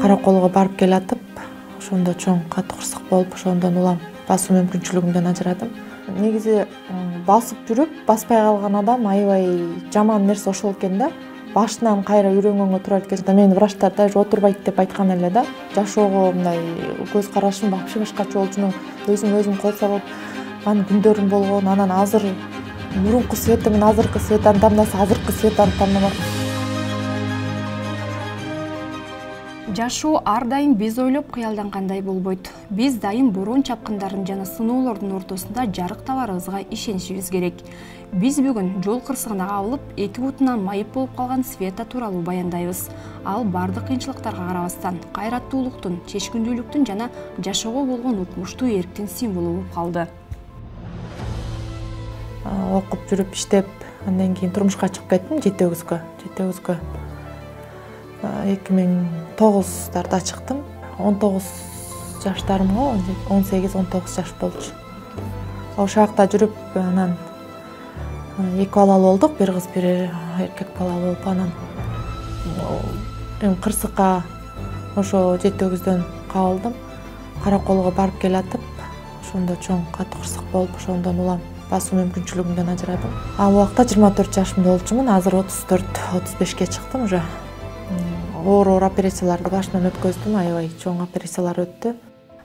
Караколго барып келатып, ошондо чоң катуу кырсык болуп, ошондон улам басуу мүмкүнчүлүгүмдөн ажырадым. Негизи басып жүрүп, баспай калган адам аябай жаман нерсе ошол экен да. Башынан кайра үйрөнгөнгө туура келет экен. Мени врачтар даже отурбайт деп айткан эле да. Жашоого мындай көз карашым вообще башкача болчу. Өзүм кол салып анын күндөрүм болгон. Анан азыр мурунку Света менен азыркы Светаны тандаса, азыркы Светаны тандамак. Жашоо ар дайым биз ойлоп кыялдангандай болбойт. Биз дайым борон чапкындарын жана сыноолордун ортосунда жарык табарыбызга ишенишибиз керек. Биз бүгүн жол кырсыгына кабылып, эки бутунан майып болуп калган Света тууралуу баяндайбыз. Ал бардык кыйынчылыктарга карабастан кайраттуулуктун, чечкиндүүлүктүн жана жашоого болгон укмуштуу эрктин символу болуп калды. Окуп жүрүп иштеп, андан кийин турмушка чыгып кеттим 7-өгүзгө. 2009 чыктым. 19 жаштарымга, 18-19 жаш болчу. Ошол жакта жүрүп, анан эки балалуу болдук, бир кыз, бир эркек балалуу болуп, анан кырсыкка ошо 7-өгүздөн кабылдым. Караколго барып келатып, ошондо чоң катуу кырсык болуп, ошондон улам басуу мүмкүнчүлүгүмдөн ажырадым. Ал убакта 24 жашымда болчумун, азыр 34-35ке чыктым уже. Оор операцияларды башынан өткөздүм, аябай чоң операциялар өттү.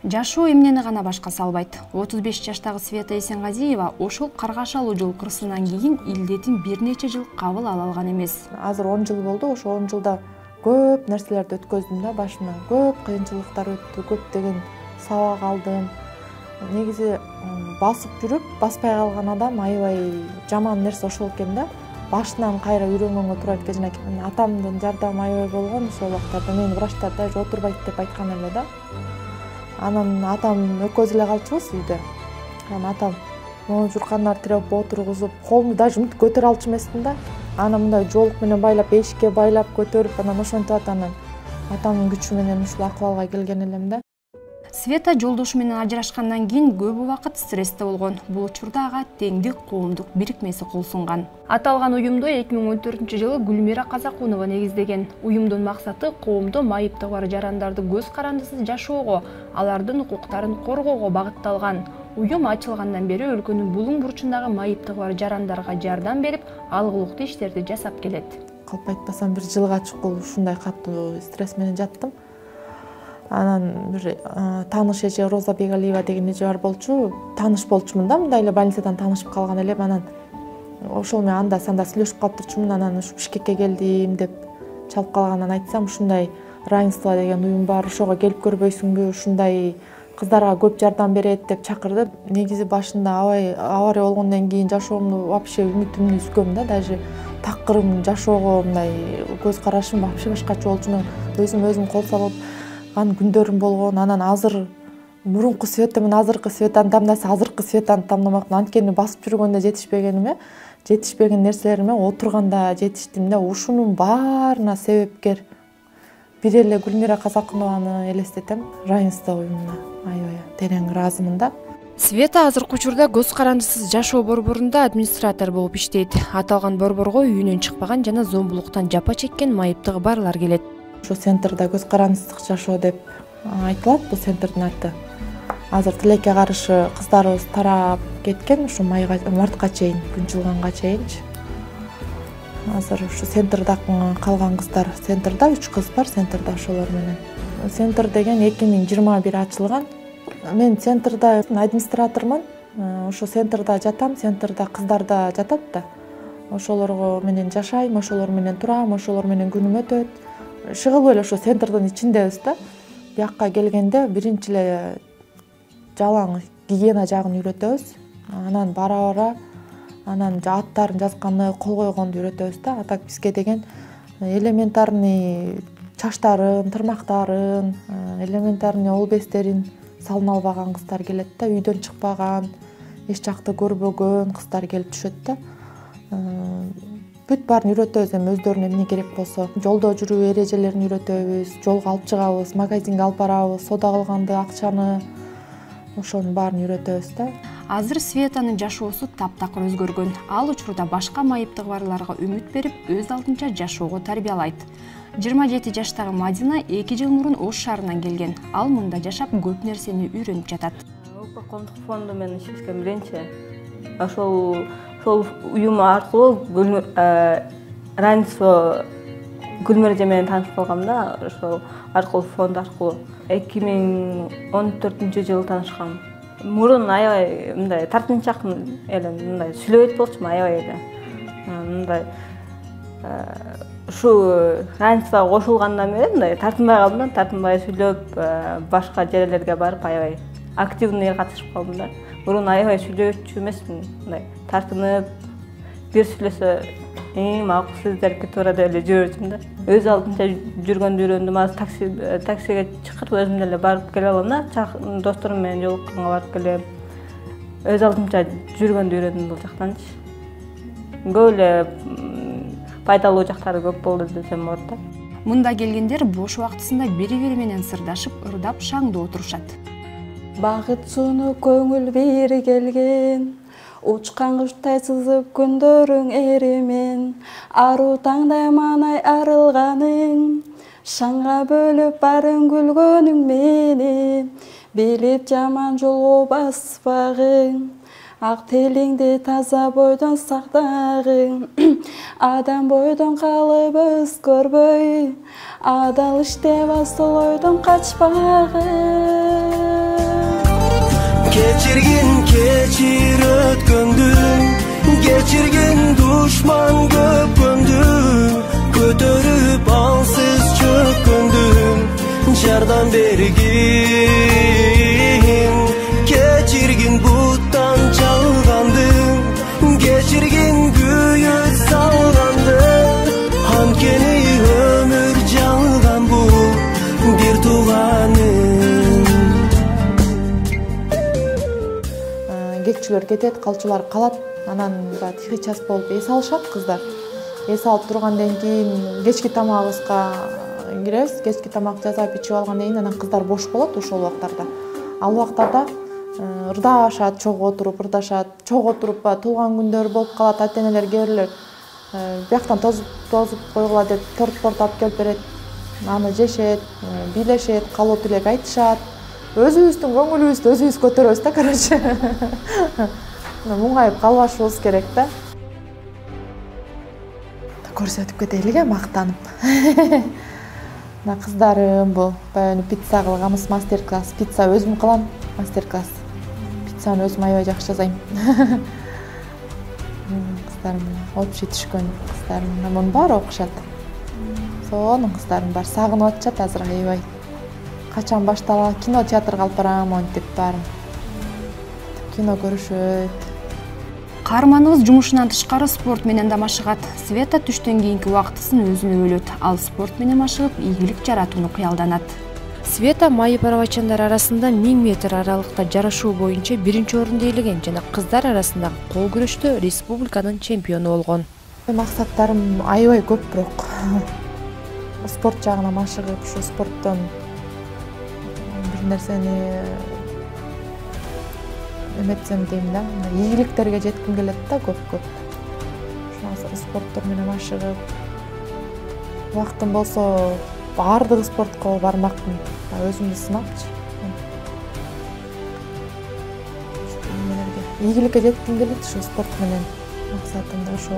Жашоо эмнени гана башка салбайт. 35 жаштагы Света Эсенгазиева ошол каргашалуу жол кырсыгынан кийин илдетин бир нече жыл кабыл ала алган эмес. Азыр 10 жыл болду, ошо 10 жылда көп нерселерди өткөздүм да, башынан көп кыйынчылыктар өттү, көптөгөн сабак алдым. Негизи басып жүрүп, баспай калган адам аябай жаман нерсе ошол экен да. Башынан кайра үйрөнгөнгө туура келет экен. Атамдын жардамы аябай болгон, ошол убактарда мени врачтар даже отурбайт деп айткан эле да. Анан атам экөөбүз эле калчубуз үйдө. Анан атам могу журкандар тиреп отургузуп, колумду даже мынтип көтөрө алчу эмесмин да. Анан мындай жолук менен байлап, эшикке байлап көтөрүп, анан ошентип анан атамдын күчү менен ушул акыбалга келген элем да. Света жолдошу менен ажырашкандан кийин көп убакыт стрессте болгон. Бул учурда ага Теңдик коомдук бирикмеси кол сунган. Аталган уюмду 2014-жылы Гүлмира Казакунова негиздеген. Уюмдун максаты коомдо майыптыгы бар жарандарды көз карандысыз жашоого, алардын укуктарын коргоого багытталган. Уюм ачылгандан бери өлкөнүн булуң бурчундагы майыптыгы бар жарандарга жардам берип, алгылыктуу иштерди жасап келет. Калп айтпасам бир жылга чукул ушундай катуу стресс менен жаттым. Анан бир тааныш эже Роза Бегалиева деген эже бар болчу. Тааныш болчумун да, мындай эле больницадан таанышып калган элем. Анан ошол менен анда-санда сүйлөшүп калып турчумун. Анан ушу Бишкекке келдим деп чалып калгандан айтсам, ушундай равенство деген уюм бар, ошого келип көрбөйсүңбү, ушундай кыздарга көп жардам берет деп чакырды. Негизи башында авария болгондон кийин жашоомду вообще үмүтүмдү үзгөм да, даже такырым жашоого мындай көз карашым вообще башкача болчу. Өзүм кол салып анын күндөрүм болгон. Анан азыр мурунку Света менен азыркы Светаны тандаса, азыркы Светаны тандамакмын. Анткени басып жүргөндө жетишпеген нерселериме отурганда жетиштим да. Ушунун баарына себепкер бир эле Гүлмира Казакунованы элестетем. Равенство уюмуна аябай терең ыраазымын да. Света азыркы учурда көз карандысыз жашоо борборунда администратор болуп иштейт. Аталган борборго үйүнөн чыкпаган жана зомбулуктан жапа чеккен майыптыгы барлар келет. Ошо центрда көз карандысыздык жашоо деп айтылат бул центрдин аты. Азыр тилекке каршы кыздарыбыз тарап кеткен, ушу мартка чейин, күн жылганга чейинчи. Азыр ушу центрда калган кыздар, центрда 3 кыз бар, центрда ошолор менен. Центр деген 2021 ачылган. Мен центрда администратормун. Ошо центрда жатам, центрда кыздар да жатат да. Ошолорго менен жашайм, ошолор менен турам, ошолор менен күнүм өтөт. Шыгылып эле ошо центрдин ичиндебиз да. Бияка келгенде биринчи эле жалаң гигиена жагын үйрөтөбүз. Анан бара анан аттарын жазганды, кол койгонду үйрөтөбүз да. А так бизге деген элементарный чачтарын, тырмактарын, элементарный ол бестерин салына албаган кыздар келет да. Үйдөн чыкпаган, эч жакты көрбөгөн кыздар келип түшөт да. Бүт баарын үйрөтөбүз, эми өздөрүнө эмне керек болсо. Жолдо жүрүү эрежелерин үйрөтөбүз, жолго алып чыгабыз, магазинге алып барабыз, соода кылганды, акчаны, ошонун баарын үйрөтөбүз да. Азыр Светанын жашоосу таптакыр өзгөргөн. Ал учурда башка майыптыгы барларга үмүт берип, өз алдынча жашоого тарбиялайт. 27 жаштагы Мадина 2 жыл мурун Ош шаарынан келген. Ал мында жашап көп нерсени үйрөнүп жатат. Улуттук коомдук фонду менен иштешкен биринчи. Ошол уюм аркылуу равенство Гүлмира эже менен таанышып калгам да, ошол аркылуу фонд аркылуу 2014-жылы таанышкам. Мурун аябай мындай тартынчаак эле, мындай сүйлөбөйт болчумун аябай эле. Мындай ушу равенствого кошулгандан бери мындай тартынбай калдым да, тартынбай сүйлөп, башка жерлерге барып аябай активный катышып калдым да. Мурун аябай сүйлөөчү эмесмин, мындай тартынып, бир сүйлөсө макул сиздерге туура деп эле жүрчүмүн да. Өз алдынча жүргөндү үйрөндүм. Азыр таксиге чакырып өзүм деле барып келе алам да. Досторум менен жолукканга барып келем. Өз алдынча жүргөндү үйрөндүм бул жактанчы. Көп эле пайдалуу жактары көп болду десем болот да. Мында келгендер бош убактысында бири-бири менен сырдашып, ырдап, шаңдуу отурушат. Багыт сууну көңүл бири келген, учкан куштай сызып күндөрүң эримен, аруу таңдай маанай арылганың, шаңга бөлүп барын күлгөнүң мени, билип жаман жолго баспагың, ак телиңди таза бойдон сактагың, адам бойдон калып өзгөрбөй, адал иштеп асыл ойдон качпагың. Keçir ötkөndүң, geçirgin duşman köpkөndүң, көтөрүп алсыз чөккөндүң, жардан бергин, keçirgin буттан чалгандың, geçirgin күйөт салгандың, анткени өмүр жалган бул бир тууганың. Кеччилер кетет, калчулар калат. Анан тихий час болуп эс алышат кыздар. Эс алып тургандан кийин кечки тамагыбызга киребиз. Кечки тамак жасап ичип алгандан кийин анан кыздар бош болот ошол убактарда. Ал убактарда ырдашат, чогуу отуруп ырдашат. Чогуу отуруп туулган күндөр болуп калат. Ата-энелер кээ бирлер бияктан тозуп койгула деп торт алып келип берет. Аны жешет, бийлешет, калоо тилек айтышат. Өзүбүздүн көңүлүбүздү өзүбүз көтөрөбүз да, короче. Муңайып калбашыбыз керек да. Көрсөтүп кетелиге мактанып. Мына кыздарым бул баягы пицца кылганбыз, мастер-класс. Пицца өзүм кылам, мастер-класс. Пиццаны өзүм аябай жакшы жасайм. Кыздарым общий түшкөн кыздарым, мунун баары окушат. Сонун кыздарым бар, сагынып атышат азыр аябай. Качан башталат, кино театрга алып барам, монтип баарын. Кино көрүшөт. Каарманыбыз жумушунан тышкары спорт менен да машыгат. Света түштөн кийинки убактысын өзүнө бөлөт. Ал спорт менен машыгып, ийгилик жаратууну кыялданат. Света майып арабачандар арасында 1000 метр аралыкта жарышуу боюнча 1-орунду ээлеген жана кыздар арасындагы кол күрөштө республиканын чемпиону болгон. Максаттарым аябай көп, бирок спорт жагына машыгып, ушу спорттон нерсени эметсем дейм да, ийгиликтерге жетким келет да көп. Ошо спорттор менен машыгып, убактым болсо баардык спортко бармакмын, өзүмдү сынапчы. Ийгиликке жетким келет ушу спорт менен, максатым да ошол.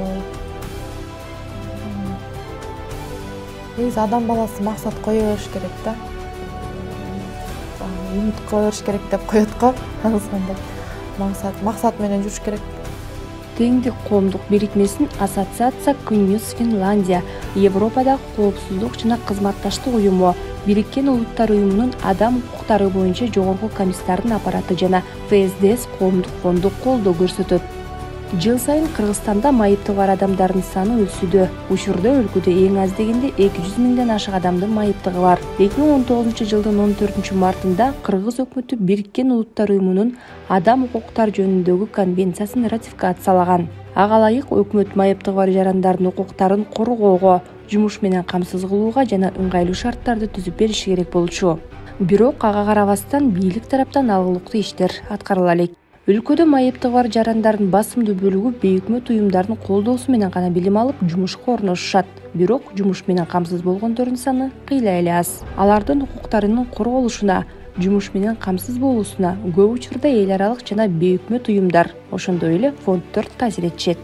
Негизи адам баласы максат кое бериш керек да. Үмүт кыла бериш керек деп коет го. Максат менен жүрүш керек. Теңдик коомдук бирикмесинин ассоциация Күнүс Финляндия, Европадагы коопсуздук жана кызматташтык уюму, Бириккен Улуттар уюмунун адам укуктары боюнча жогорку комиссарынын аппараты жана ФСДС коомдук фонду колдоо көрсөтөт. Жыл сайын Кыргызстанда майыптыгы бар адамдардын саны өсүүдө. Учурда өлкөдө эң аз дегенде 200 миңден ашык адамдын майыптыгы бар. 2019-жылдын 14-мартында Кыргыз өкмөтү Бириккен Улуттар уюмунун адам укуктары жөнүндөгү конвенциясын ратификациялаган. Ага ылайык өкмөт майыптыгы бар жарандардын укуктарын коргоого, жумуш менен камсыз кылууга жана ыңгайлуу шарттарды түзүп бериши керек болчу. Бирок ага карабастан бийлик тараптан алгылыктуу иштер аткарыла элек. Өлкөдө майыптыгы бар жарандардын басымдуу бөлүгү бейөкмөт уюмдардын колдоосу менен гана билим алып жумушка орношушат. Бирок жумуш менен камсыз болгондордун саны кыйла эле аз. Алардын укуктарынын корголушуна, жумуш менен камсыз болуусуна көп учурда эл аралык жана бейөкмөт уюмдар, ошондой эле фонддор таасир этишет.